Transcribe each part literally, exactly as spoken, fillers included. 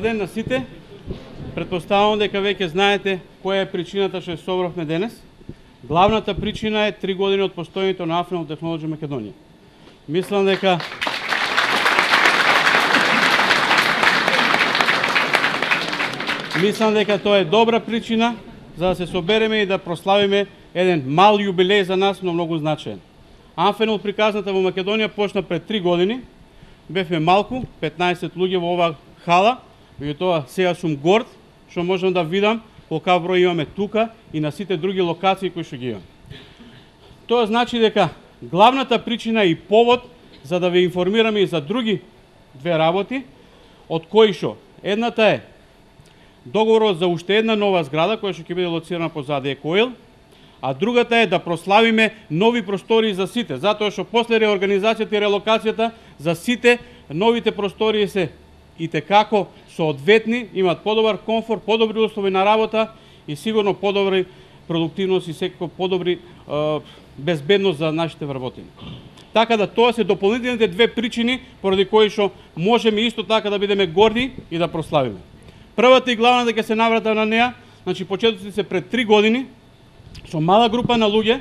ден на сите. Претпоставувам дека веќе знаете која е причината што се собравме денес. Главната причина е три години од постоењето на Anfinol Technology Македонија. Мислам дека Мислам дека тоа е добра причина за да се собереме и да прославиме еден мал јубилеј за нас, но многу значаен. Anfinol приказната во Македонија почна пред три години. Бевме малку, петнаесет луѓе во оваа хала, меѓутоа сега сум горд што можам да видам колкав број имаме тука и на сите други локации кои што ги имаме. Тоа значи дека главната причина и повод за да ве информираме и за други две работи, од кои што едната е договорот за уште една нова зграда која што ќе биде лоцирана позади Екоил, а другата е да прославиме нови простории за сите, затоа што после реорганизацијата и релокацијата за сите новите простории се и текако соодветни, имат подобар комфорт, подобри услови на работа и сигурно подобри продуктивност и секако подобри е, безбедност за нашите вработени. Така да тоа се дополнителните две причини поради кои што можеме исто така да бидеме горди и да прославиме. Првата и главна дека се наврата на неа, значи почетоците се пред три години со мала група на луѓе,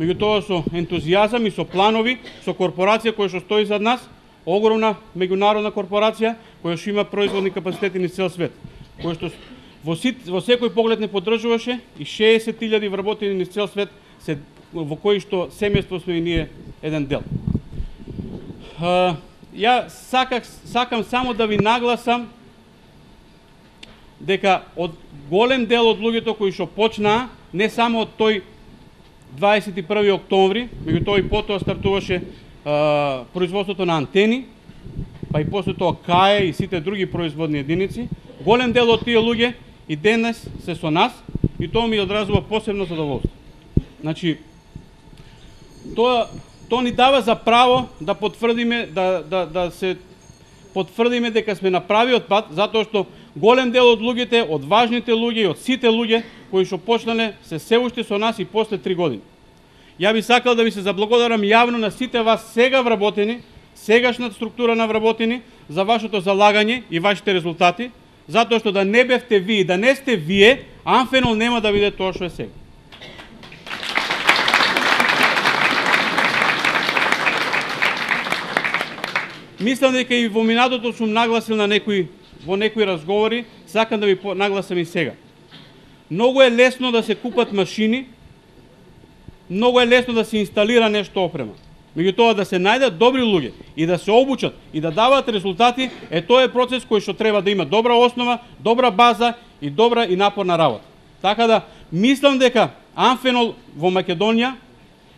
меѓутоа со ентузијазам и со планови, со корпорација која што стои зад нас, огромна меѓународна корпорација која што има производни капацитети низ цел свет, која што во, сит, во секој поглед не поддржуваше и шеесет илјади вработени низ цел свет се, во кои што семејство сме и ние еден дел. Uh, ја саках, сакам само да ви нагласам дека од голем дел од луѓето кои што почнаа, не само од тој дваесет и први октомври, меѓутоа и потоа стартуваше а, производството на антени, па и после тоа КАЕ и сите други производни единици, голем дел од тие луѓе и денес се со нас и тоа ми одразува посебно задоволство. Значи, тоа, тоа ни дава за право да потврдиме, да, да, да се потврдиме дека сме на правиот пат, затоа што голем дел од луѓето, од важните луѓе и од сите луѓе кои што почнале се се уште со нас и после три години. Ја би сакал да ви се заблагодарам јавно на сите вас сега вработени, сегашната структура на вработени за вашето залагање и вашите резултати, затоа што да не бевте вие, да не сте вие, Anfinol нема да биде тоа што е сега. Мислам дека и во минатото сум нагласил на некои во некои разговори, сакам да ви нагласам и сега. Многу е лесно да се купат машини, многу е лесно да се инсталира нешто опрема. Меѓутоа да се најдат добри луѓе и да се обучат и да даваат резултати, е тоа е процес кој што треба да има добра основа, добра база и добра и напорна работа. Така да мислам дека Anfinol во Македонија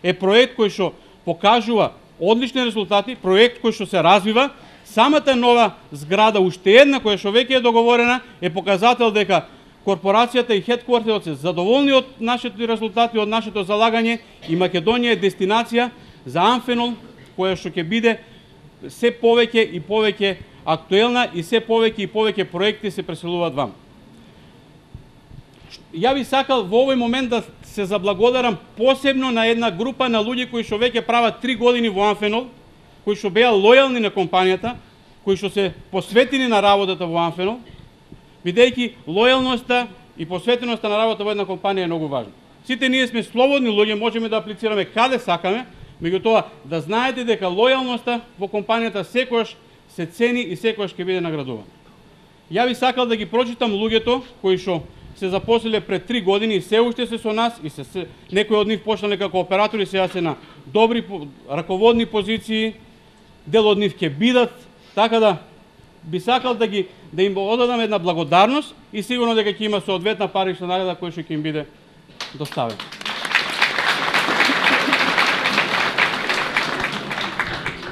е проект кој што покажува одлични резултати, проект кој што се развива. Самата нова зграда, уште една која што веќе е договорена, е показател дека корпорацијата и хедквартерот се задоволни од нашите резултати, од нашето залагање и Македонија е дестинација за Anfinol која што ќе биде се повеќе и повеќе актуелна и се повеќе и повеќе проекти се преселуваат вам. Ја би сакал во овој момент да се заблагодарам посебно на една група на луѓе кои што веќе прават три години во Anfinol, кои што беа лојални на компанијата, кои што се посветени на работата во Anfinol, бидејќи лојалноста и посветеноста на работа во една компанија е многу важна. Сите ние сме слободни луѓе, можеме да аплицираме каде сакаме, меѓутоа да знаете дека лојалноста во компанијата секогаш се цени и секогаш ќе биде наградувана. Ја би сакал да ги прочитам луѓето кои што се запослиле пред три години и се уште се со нас и се, се некои од нив почнале како оператори, сега се на добри раководни позиции, дел од нив ќе бидат, така да би сакал да ги да им одадам една благодарност и сигурно дека ќе има соодветна парична награда која што ќе им биде доставена.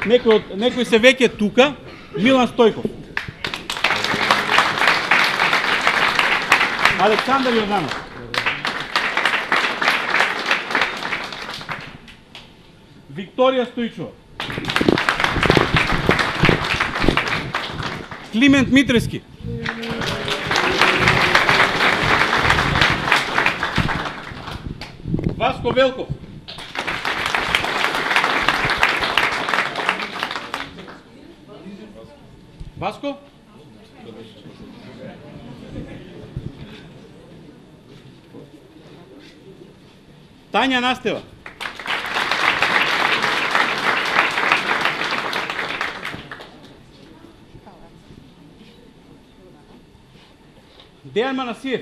Некои од некои се веќе тука, Милан Стојков. Александар Јорданов. Викторија Стојчова. Климент Митрески. Васко Велков. Васко? Тања Настева. Дејан Манасиев.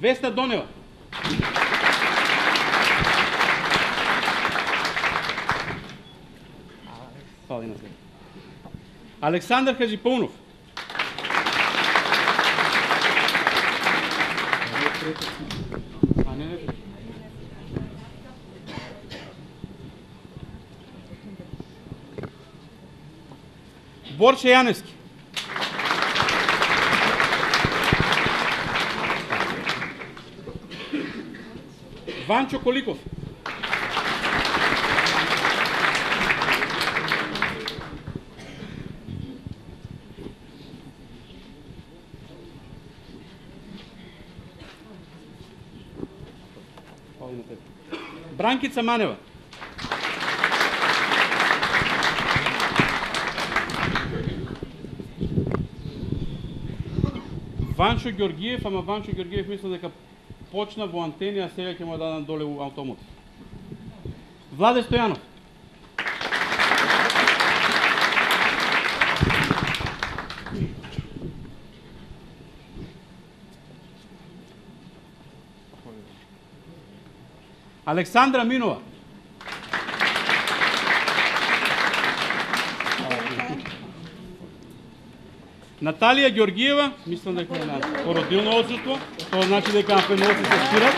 Весна Донева. Фали на себе. Александар Хаджипаунов. А не, не. Борче Јаневски. Ванчо Коликов. Бранкица Манева. Ванчо Ѓоргиев, ама Ванчо Ѓоргиев мисля дека почна во Антени, а сега ќе му дадам доле у Автомотив. Владе Стојанов. Александра Минова. Наталија Ѓоргиева, мислам дека е на породилно отсуство, тоа значи дека амфеноци се спират.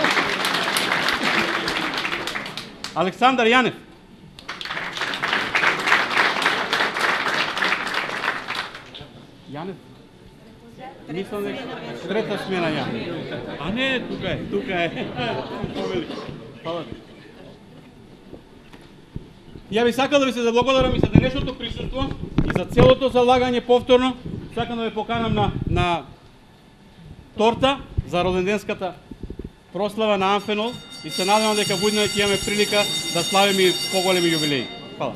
Александар Јанев. Јанев? Мислам дека трета смена Јанев. А не, тука е, тука е. Фала. Ја би сакал да ви се заблагодарам и за денешното присуство и за целото залагање повторно. Сакам да ве поканам на, на торта за роденденската прослава на Амфенол и се надевам дека будна ќе имаме прилика да славиме и поголеми јубилеи. Фала.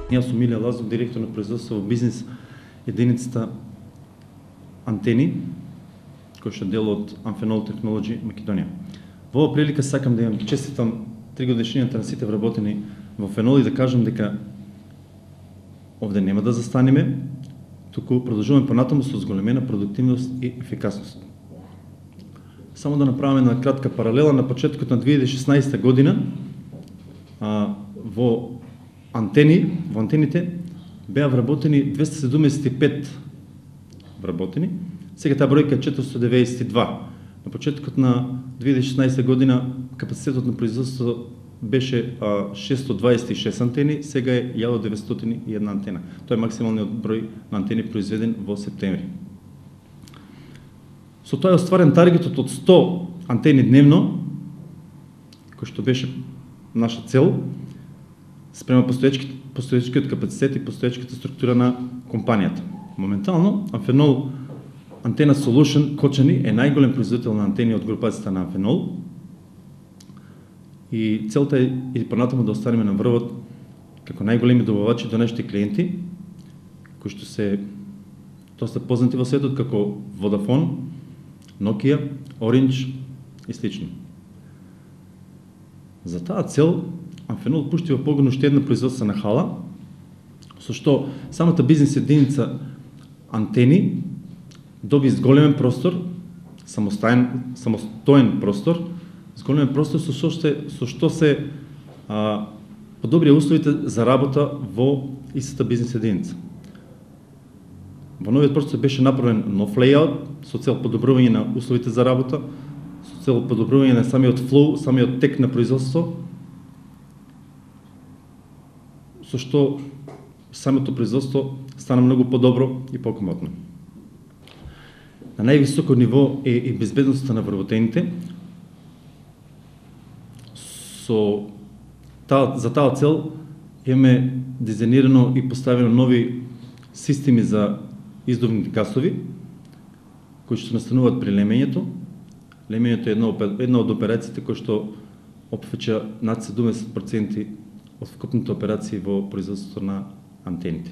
Јас сум Милија Лазов, директор на производство во бизнес единицата Антени, кој што дел од Amphenol Technology Македонија. Во оваа прилика сакам да ја честитам тригодишнината на сите вработени во Фенол и да кажам дека овде нема да застанеме, туку продолжуваме понатаму со зголемена продуктивност и ефикасност. Само да направиме една кратка паралела, на почетокот на две илјади и шеснаесета година а, во Антени, во антените беа вработени двеста седумдесет и пет вработени, сега таа бројка е четиристотини деветдесет и два. На почетокот на две илјади и шеснаесета година капацитетот на производство беше а, шестстотини дваесет и шест антени, сега е илјада деветстотини и една антена. Тоа е максималниот број на антени произведен во септември. Со тоа е остварен таргетот од сто антени дневно, кој што беше наша цел, спрема постоечкиот капацитет и постоечката структура на компанијата. Моментално, Amphenol Antenna Solution Кочани е најголем производител на антени од групацијата на Amphenol и целта е и понатаму да останеме на врвот како најголеми добавачи до нашите клиенти, кои што се доста познати во светот како Vodafone, Nokia, Orange и слични. За таа цел Amphenol пушти во погону уште една производствена хала, со што самата бизнес единица Антени доби зголемен простор, самостоен, самостоен простор, зголемен простор со што, со што се а, подобрија условите за работа во истата бизнес единица. Во новиот простор беше направен нов лејаут со цел подобрување на условите за работа, со цел подобрување на самиот флоу, самиот тек на производство, со што самото производство стана многу подобро и покомотно. На највисоко ниво е и безбедноста на вработените. Со таа, за таа цел имаме дизајнирано и поставено нови системи за издувни гасови, кои што настануваат при лемењето. Лемењето е една, една од операциите кои што опфаќа над седумдесет проценти од вкупните операции во производството на антените.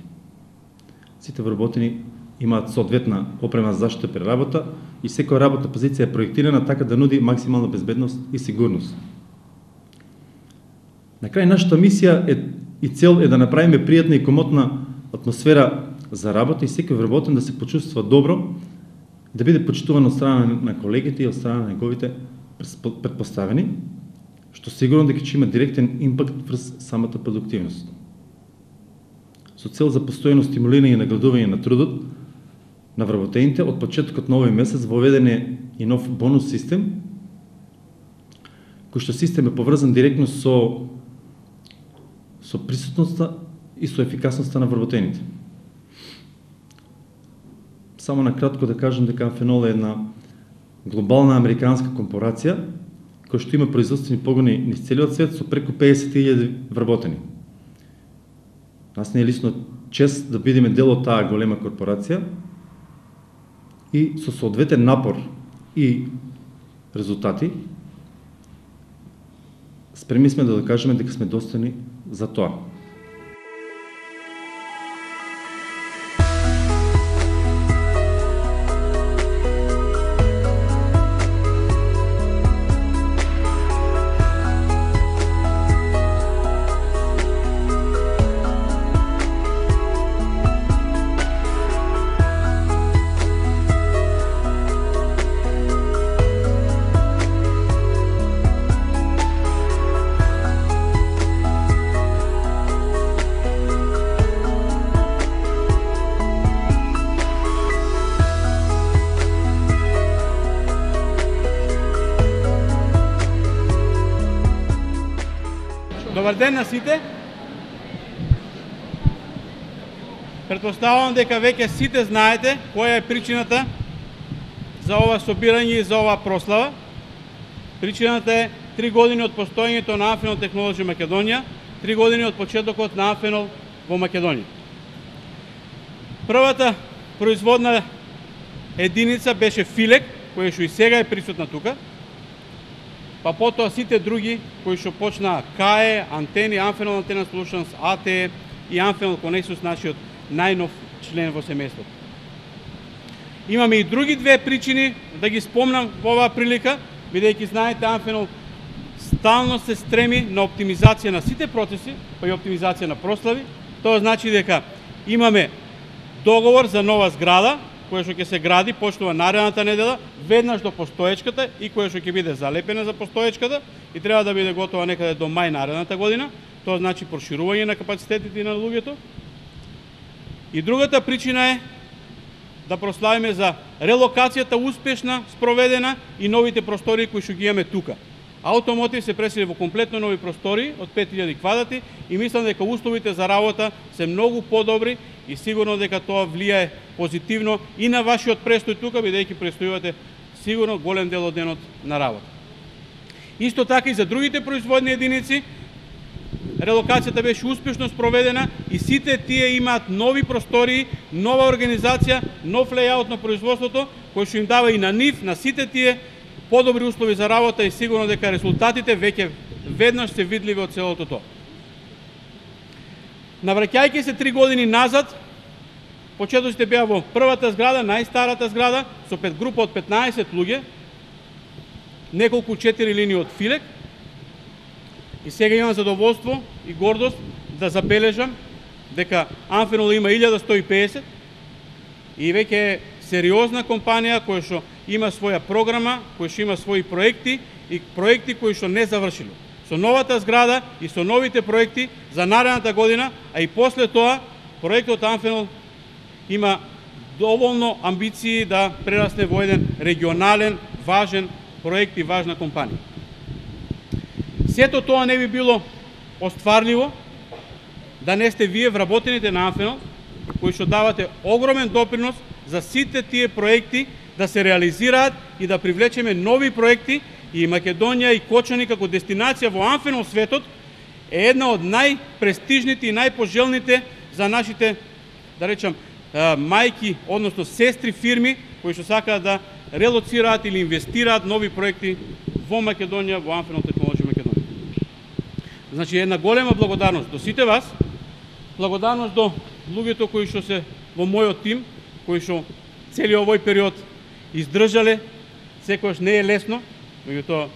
Сите вработени имаат соодветна опрема за заштита при работа и секоја работна позиција е проектирана така да нуди максимална безбедност и сигурност. На крај, нашата мисија е и цел е да направиме пријатна и комотна атмосфера за работа и секој вработен да се почувствува добро, да биде почитуван од страна на колегите и од страна на неговите претпоставени, што сигурно дека ќе има директен импакт врз самата продуктивност. Со цел за постојано стимулирање и наградување на трудот на вработените, од почетокот на овој месец воведен е и нов бонус систем, кој што систем е поврзан директно со со присутноста и со ефикасноста на вработените. Само на кратко да кажам дека Амфенол е една глобална американска корпорација која што има производствени погони низ целиот свет со преку педесет илјади вработени. Нас не е лично чест да бидеме дел од таа голема корпорација и со соодветен напор и резултати спремни сме да докажеме дека сме достојни за тоа. Добар ден на сите. Претпоставувам дека веќе сите знаете која е причината за ова собирање и за ова прослава. Причината е три години од постоењето на Амфенол Технолоџи Македонија, три години од почетокот на Амфенол во Македонија. Првата производна единица беше Филек, која што и сега е присутна тука. Па потоа сите други кои што почнаа КАЕ, Антени, Амфенол Антена Solutions, АТЕ и Амфенол Конексус, нашиот најнов член во семејството. Имаме и други две причини да ги спомнам во оваа прилика, бидејќи знаете Амфенол стално се стреми на оптимизација на сите процеси, па и оптимизација на прослави. Тоа значи дека имаме договор за нова зграда, која што ќе се гради, почнува наредната недела, веднаш до постоечката и која што ќе биде залепена за постоечката и треба да биде готова некаде до мај наредната година. Тоа значи проширување на капацитетите на луѓето. И другата причина е да прославиме за релокацијата успешна, спроведена и новите простори кои што ги имаме тука. Automotive се пресели во комплетно нови простори од пет илјади квадрати и мислам дека условите за работа се многу подобри и сигурно дека тоа влијае позитивно и на вашиот престој тука, бидејќи престојувате сигурно голем дел од денот на работа. Исто така и за другите производни единици, релокацијата беше успешно спроведена и сите тие имаат нови простори, нова организација, нов лејаут на производството, кој што им дава и на нив, на сите тие подобри услови за работа и сигурно дека резултатите веќе веднаш се видливи од целото тоа. Навраќајќи се три години назад, почетоците беа во првата зграда, најстарата зграда, со пет група од петнаесет луѓе, неколку четири линии од Филек. И сега имам задоволство и гордост да забележам дека Амфенол има илјада сто и педесет и веќе е сериозна компанија која што има своја програма, која што има своји проекти и проекти кои што не завршило. Со новата зграда и со новите проекти за наредната година, а и после тоа, проектот Амфенол има доволно амбиции да прерасне во еден регионален, важен проекти важна компанија. Сето тоа не би било остварливо да не сте вие вработените на Амфенол, кои што давате огромен допринос за сите тие проекти да се реализираат и да привлечеме нови проекти, и Македонија и Кочани како дестинација во Амфенол светот е една од најпрестижните и најпожелните за нашите, да речам, мајки, односно сестри фирми, кои што сакаат да релоцираат или инвестираат нови проекти во Македонија, во Амфенол Технолоџи Македонија. Значи, една голема благодарност до сите вас, благодарност до луѓето кои што се во мојот тим, кои што целиот овој период издржале, секојаш не е лесно, меѓутоа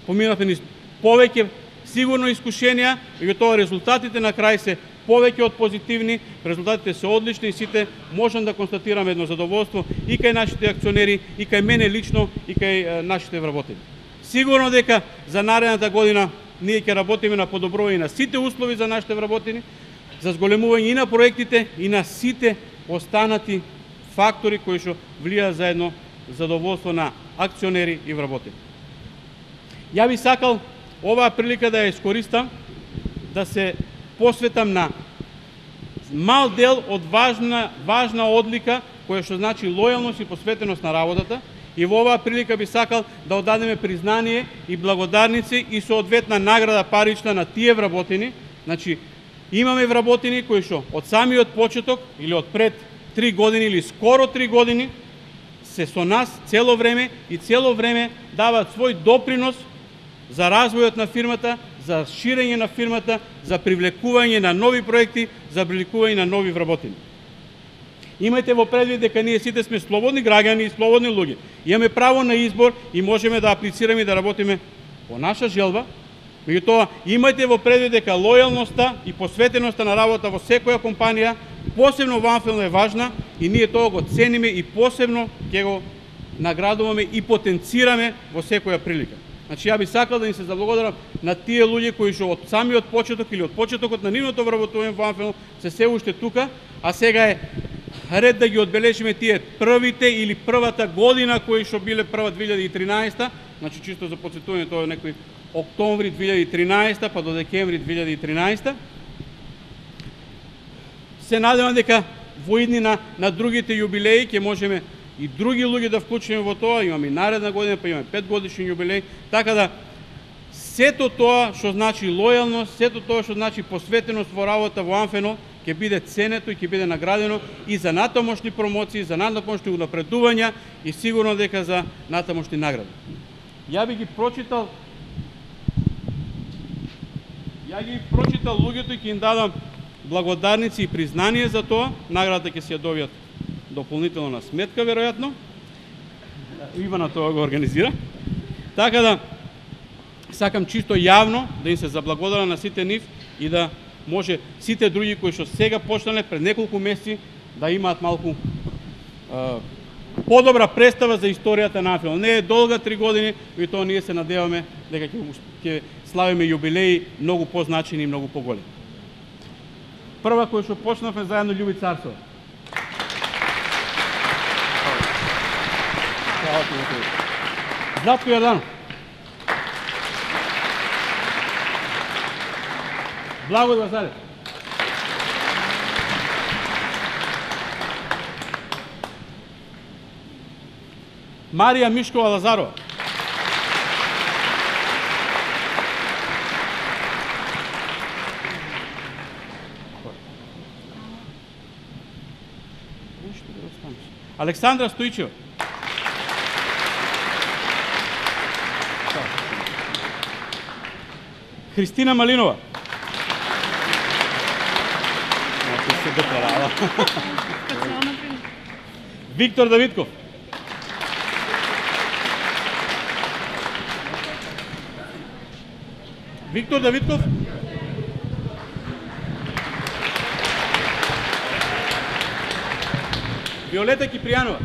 поминавме низ повеќе сигурно искушенија, меѓутоа резултатите на крај се повеќе од позитивни, резултатите се одлични и сите можам да констатираме едно задоволство и кај нашите акционери, и кај мене лично, и кај нашите вработени. Сигурно дека за наредната година ние ќе работиме на подобрување на сите услови за нашите вработени, за зголемување и на проектите и на сите останати фактори кои што влијаат за едно задоволство на акционери и вработени. Ја би сакал оваа прилика да ја искористам да се посветам на мал дел од важна важна одлика која што значи лојалност и посветеност на работата, и во оваа прилика би сакал да одадеме признание и благодарници и соодветна награда парична на тие вработени. Значи, имаме вработени кои што од самиот почеток или од пред три години или скоро три години се со нас цело време и цело време даваат свој допринос за развојот на фирмата, за ширење на фирмата, за привлекување на нови проекти, за привлекување на нови вработени. Имајте во предвид дека ние сите сме слободни граѓани и слободни луѓе. Имаме право на избор и можеме да аплицираме и да работиме по наша желба. Меѓутоа, имајте во предвид дека лојалноста и посветеноста на работа во секоја компанија, посебно во Амфенол, е важна и ние тоа го цениме и посебно ќе го наградуваме и потенцираме во секоја прилика. Значи, ја би сакал да им се заблагодарам на тие луѓе кои што од самиот почеток или од почетокот на нивното вработување во Амфенол се се уште тука, а сега е ред да ги одбележиме тие првите или првата година кои што биле прва две илјади и тринаесета, значи чисто за потсетување, тоа е некој октомври две илјади и тринаесета па до декември две илјади и тринаесета. Се надевам дека во иднина на другите јубилеи ќе можеме и други луѓе да вклучиме во тоа, имаме и наредна година, па имаме пет годишен јубилеј, така да сето тоа што значи лојалност, сето тоа што значи посветеност во работа во Амфенол ќе биде ценето и ќе биде наградено и за натамошни промоции, за натамошни унапредувања и сигурно дека за натамошни награди. Ја би ги прочитал Ја ги прочитал луѓето и ќе им дадам благодарници и признание за тоа. Наградата ќе се ја добијат дополнително на сметка, веројатно. Ивана тоа го организира. Така да, сакам чисто јавно да им се заблагодарам на сите нив и да може сите други кои што сега почнале пред неколку месеци да имаат малку е, подобра представа за историјата на Амфенол. Не е долга три години, и тоа ние се надеваме дека ќе ќе славиме јубилеи многу позначени и многу поголеми. Прва која што почнавме заедно Љуби Царсова. Златко Јорданов. Благој Вазарев. Марија Мишкова Лазарова. Александра Стоичева. Христина Малинова. Виктор Давидков. Виктор Давидков. Виолета Кипријанова.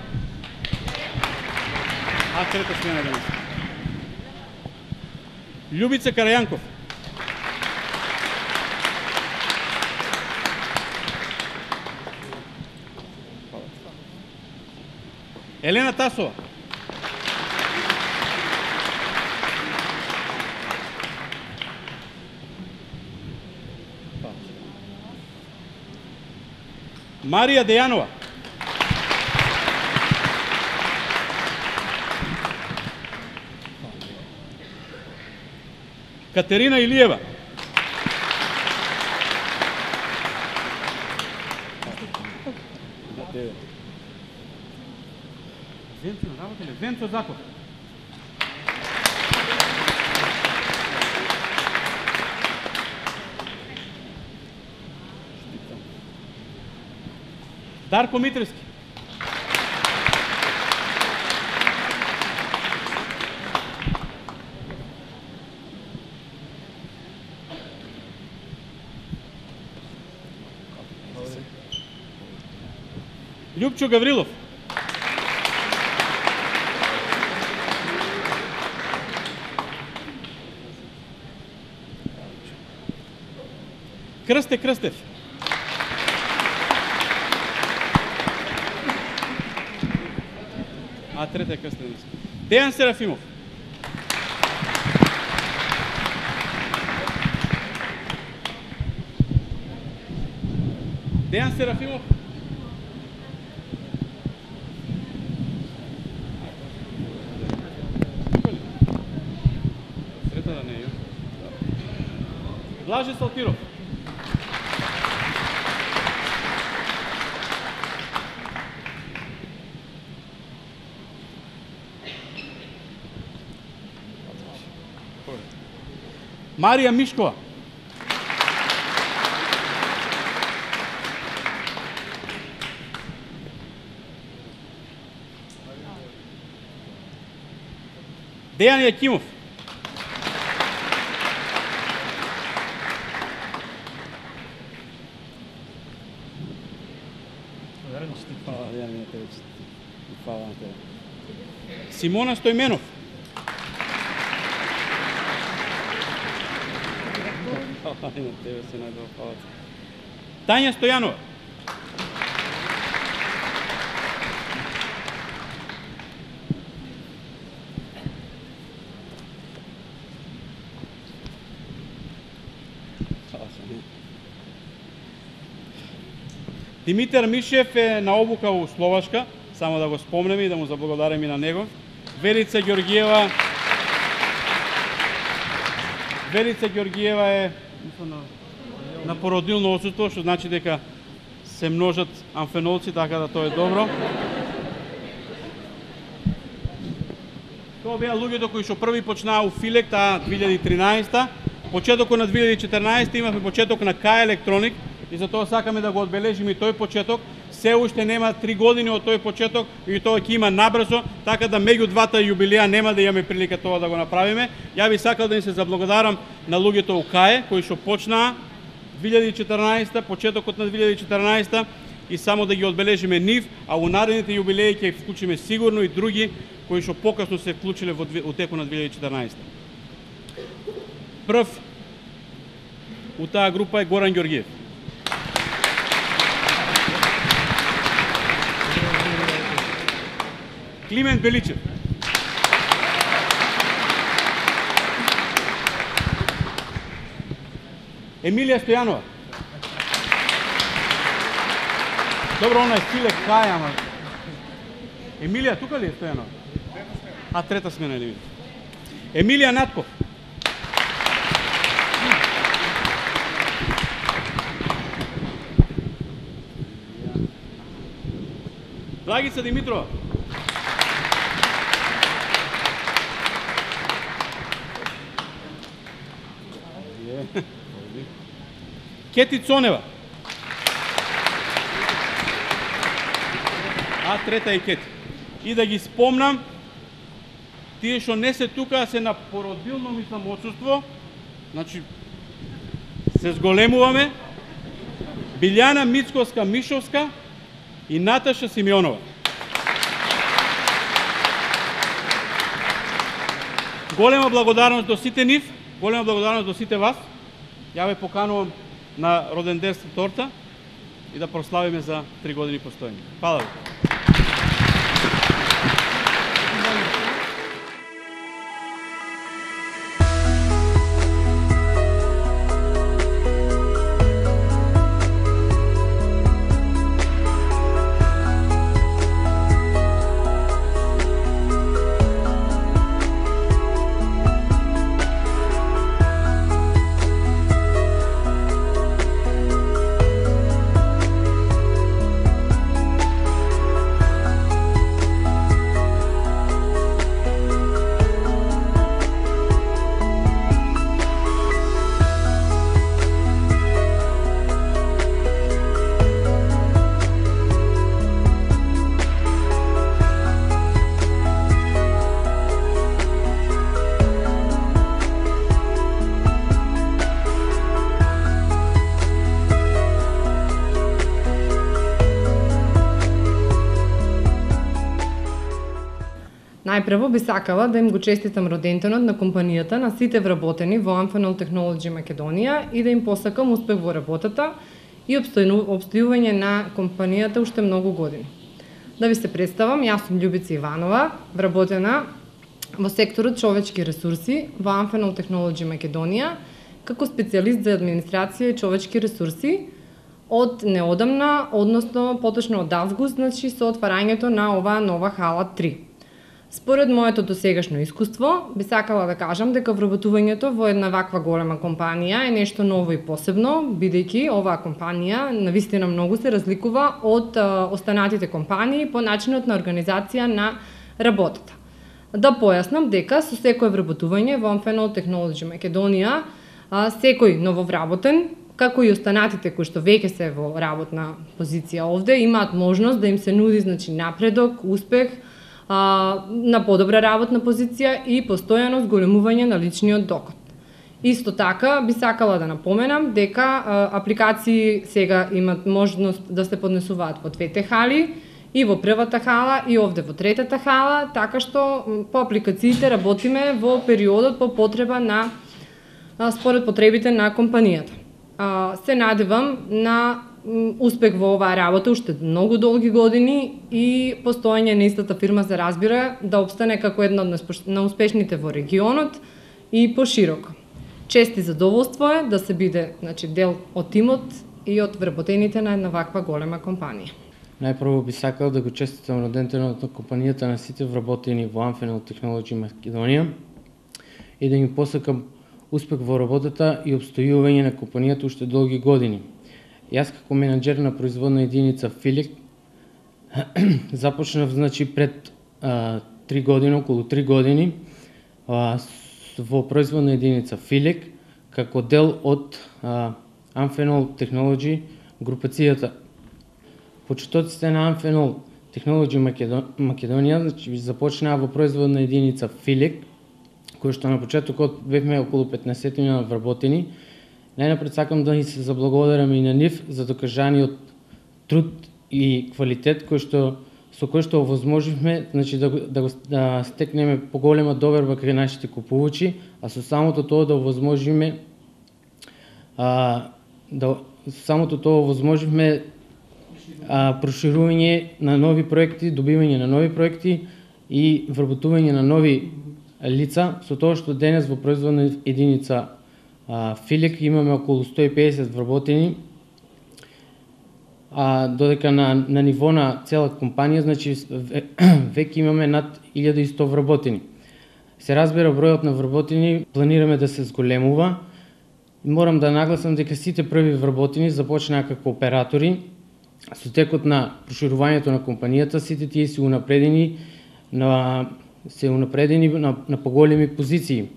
А трета смена денес. Љубица Карајанков. Елена Тасова. Марија Дејанова. Катерина Илиева. Венцо, работеле, Венцо Заков. Дарко Митрески. Љупчо Гаврилов. Крсте Крстев. А трета е Крстев. Дејан Серафимов. Дејан Серафимов. Срета да не е. Блаже Салтиров. Марија Мишкова. Дејан Јакимов. Симона Стојменов. Тања Стојанова. Димитар Мишев е на обука у Словашка, само да го спомнеме и да му заблагодарим и на него. Верица Ѓоргиева Верица Ѓоргиева е на, на породилно отсуство, што значи дека се множат амфенолци, така да тоа е добро. Тоа беа луѓето кои што први почнаа у Филек таа две илјади и тринаесета. Почетокот на две илјади и четрнаесета имавме почеток на К Електроник и затоа сакаме да го одбележиме и тој почеток. Се уште нема три години од тој почеток и тоа ќе има набрзо, така да меѓу двата јубилеа нема да имаме прилика тоа да го направиме. Ја би сакал да им се заблагодарам на луѓето у КАЕ кои што почнаа две илјади и четрнаесета, почетокот на две илјади и четрнаесета и само да ги одбележиме нив, а у наредните јубилеи ќе вклучиме сигурно и други кои што покасно се вклучиле во утеку на две илјади и четрнаесета. Прв у таа група е Горан Ѓоргиев. Климент Беличев. Емилија Стојанова. Добро, она е Филек Кај, ама... Емилија, тука ли е Стојанова? А, трета смена или ви? Емилија Натков. Благица Димитрова. Кети Цонева. А трета е Кети. И да ги спомнам, тие што не се тука, се на породилно, мислам, отсуство. Значи, се зголемуваме. Билјана Мицковска-Мишовска и Наташа Симеонова. Голема благодарност до сите нив, голема благодарност до сите вас. Ја ве поканувам на роденденска торта и да прославиме за три години постоење. Фала ви. Најпрво би сакала да им го честитам роденденот на компанијата на сите вработени во Amphenol Technology Македонија и да им посакам успех во работата и обстојување на компанијата уште многу години. Да ви се представам, јас сум Љубица Иванова, вработена во секторот човечки ресурси во Amphenol Technology Македонија како специјалист за администрација и човечки ресурси од неодамна, односно поточно од август, значи со отварањето на оваа нова хала три. Според моето досегашно искуство, би сакала да кажам дека вработувањето во една ваква голема компанија е нешто ново и посебно, бидејќи оваа компанија навистина многу се разликува од а, останатите компании по начинот на организација на работата. Да појаснам дека со секое вработување во Amphenol Technology Македонија, а, секој нововработен, како и останатите кои што веќе се во работна позиција овде, имаат можност да им се нуди значи напредок, успех, а, на подобра работна позиција и постојано зголемување на личниот доход. Исто така би сакала да напоменам дека а, апликации сега имат можност да се поднесуваат во двете хали, и во првата хала и овде во третата хала, така што по апликациите работиме во периодот по потреба на а, според потребите на компанијата. А, се надевам на успех во оваа работа уште многу долги години и постоење на истата фирма се разбира да обстане како една од најуспешните во регионот и пошироко. Чест и задоволство е да се биде значи, дел од тимот и од вработените на една ваква голема компанија. Најпрво би сакал да го честитам роденденот на компанијата на сите вработени во Amphenol Technology Македонија и да им посакам успех во работата и обстојување на компанијата уште долги години. Јас како менаџер на производна единица Филик започнав значи пред а, три години, околу три години а, во производна единица Филик како дел од а, Amphenol Technology групацијата. Почетоците на Amphenol Technology Македонија значи започнаа во производна единица Филик, кој што на почетокот бевме околу петнаесет вработени. Најнапред сакам да ни се заблагодарам и на нив за докажаниот труд и квалитет кој што со кој што овозможивме значи да да, да стекнеме поголема доверба кај нашите купувачи, а со самото тоа да овозможиме а да самото тоа овозможивме а, проширување на нови проекти, добивање на нови проекти и вработување на нови лица, со тоа што денес во производна единица а, Филик имаме околу сто и педесет вработени, а додека на, на ниво на цела компанија, значи веќе имаме над илјада и сто вработени. Се разбира бројот на вработени, планираме да се зголемува. Морам да нагласам дека сите први вработени започнаа како оператори. Со текот на проширувањето на компанијата, сите тие се унапредени на се унапредени на, на поголеми позиции.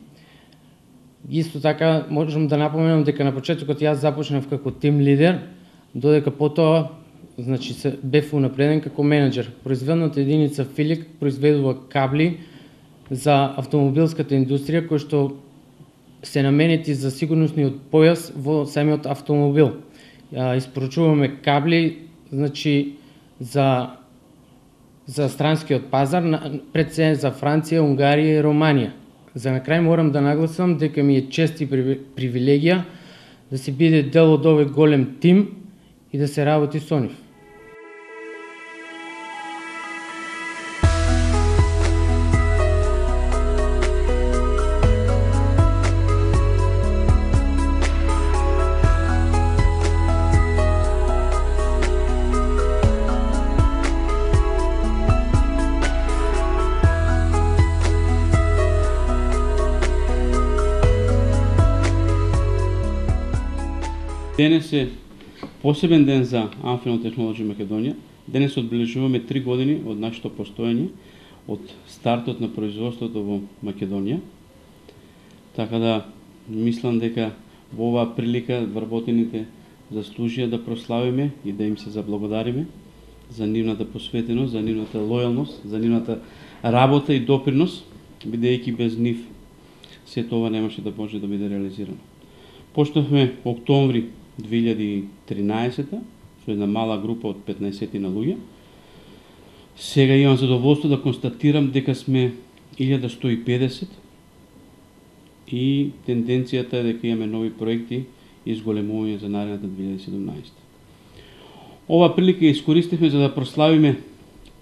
Исто така можам да напоменам дека на почетокот јас започнав како тим лидер, додека потоа значи се бев унапреден како менаџер. Производната единица Филик произведува кабли за автомобилската индустрија кои што се наменети за сигурnosниот појас во самиот автомобил. Испоручуваме кабли значи за за странскиот пазар, пред се за Франција, Унгарија и Романија. За на крај морам да нагласам дека ми е чест и привилегија да се биде дел од овој голем тим и да се работи со нив. Денес е посебен ден за Amphenol Technology Македонија. Денес одбележуваме три години од нашето постоење, од стартот на производството во Македонија. Така да мислам дека во оваа прилика вработените заслужија да прославиме и да им се заблагодариме за нивната посветеност, за нивната лојалност, за нивната работа и допринос, бидејќи без нив сето ова немаше да може да биде реализирано. Почнавме октомври две илјади и тринаесета со една мала група од петнаесет на луѓе. Сега имам задоволство да констатирам дека сме илјада сто и педесет и тенденцијата е дека имаме нови проекти и изголемување за наредната две илјади и седумнаесета. Ова прилика искористивме за да прославиме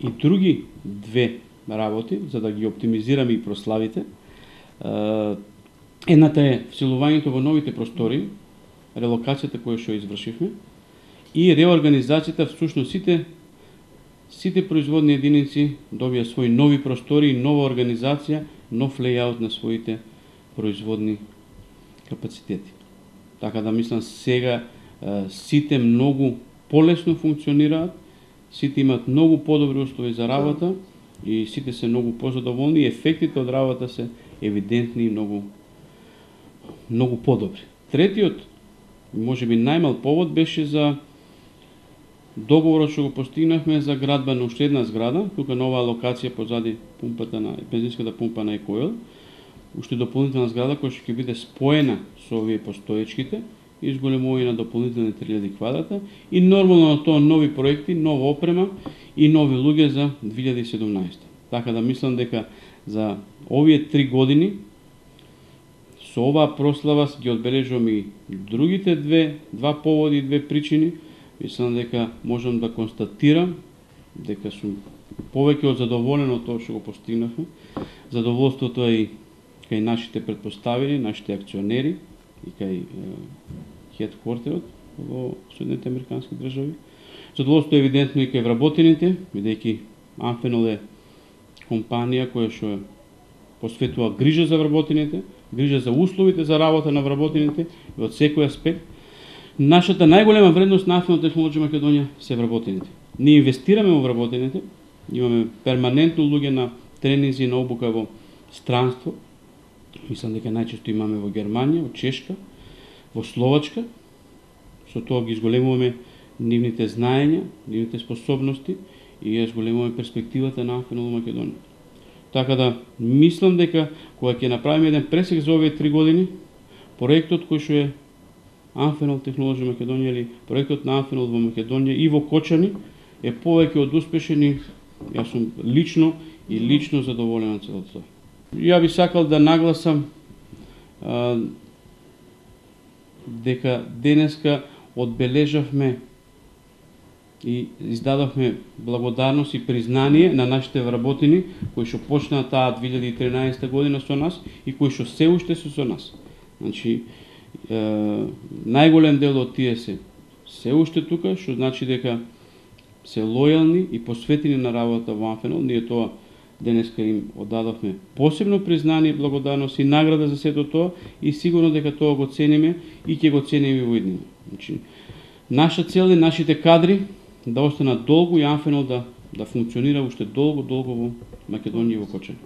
и други две работи, за да ги оптимизираме и прославите. Едната е вселувањето во новите простори, релокацијата која што извршивме, и реорганизацијата, всушност сите сите производни единици добија своји нови простори, нова организација, нов лејаут на своите производни капацитети. Така да мислам сега сите многу полесно функционираат, сите имаат многу подобри услови за работа и сите се многу позадоволни и ефектите од работа се евидентни и многу многу подобри. Третиот, можеби најмал повод беше за договорот што го постигнавме за градба на уште една зграда, тука на оваа локација позади пумпата на бензинската пумпа на Екоил, уште дополнителна зграда која што ќе биде споена со овие постоечките, изголемување на дополнителни три илјади квадрата и нормално на тоа нови проекти, нова опрема и нови луѓе за две илјади и седумнаесета. Така да мислам дека за овие три години со оваа прослава ги одбележуваме и другите две, два поводи и две причини. Мислам дека можам да констатирам дека сум повеќе од задоволен од тоа што го постигнавме. Задоволството е и кај нашите претпоставени, нашите акционери и кај хедквартерот во Соединетите Американски држави. Задоволството е евидентно и кај вработените, бидејќи Амфенол е компанија која што посветува грижа за вработените, грижа за условите за работа на вработените и од секој аспект. Нашата најголема вредност на Амфенол Технолоџи Македонија се вработените. Ние инвестираме во вработените, имаме перманентно луѓе на тренинзи и на обука во странство. Мислам дека најчесто имаме во Германија, во Чешка, во Словачка. Со тоа ги изголемуваме нивните знаења, нивните способности и ја изголемуваме перспективата на Амфенол Македонија. Така да мислам дека кога ќе направиме еден пресек за овие три години, проектот кој што е Амфенол Технолоџи Македонија или проектот на Амфенол во Македонија и во Кочани е повеќе од успешен и јас сум лично и лично задоволен од целото. Ја би сакал да нагласам а, дека денеска одбележавме и издадовме благодарност и признание на нашите вработени кои што почнаа таа две илјади и тринаесета година со нас и кои што се уште се со нас. Значи, е, најголем дел од тие се се уште тука, што значи дека се лојални и посветени на работа во Амфенол. Ние тоа денеска им оддадовме посебно признание, благодарност и награда за сето тоа и сигурно дека тоа го цениме и ќе го цениме во иднина. Значи, наша цел е нашите кадри да останат долго и Амфенол да, да функционира уште долго, долго во Македонија и во Кочани.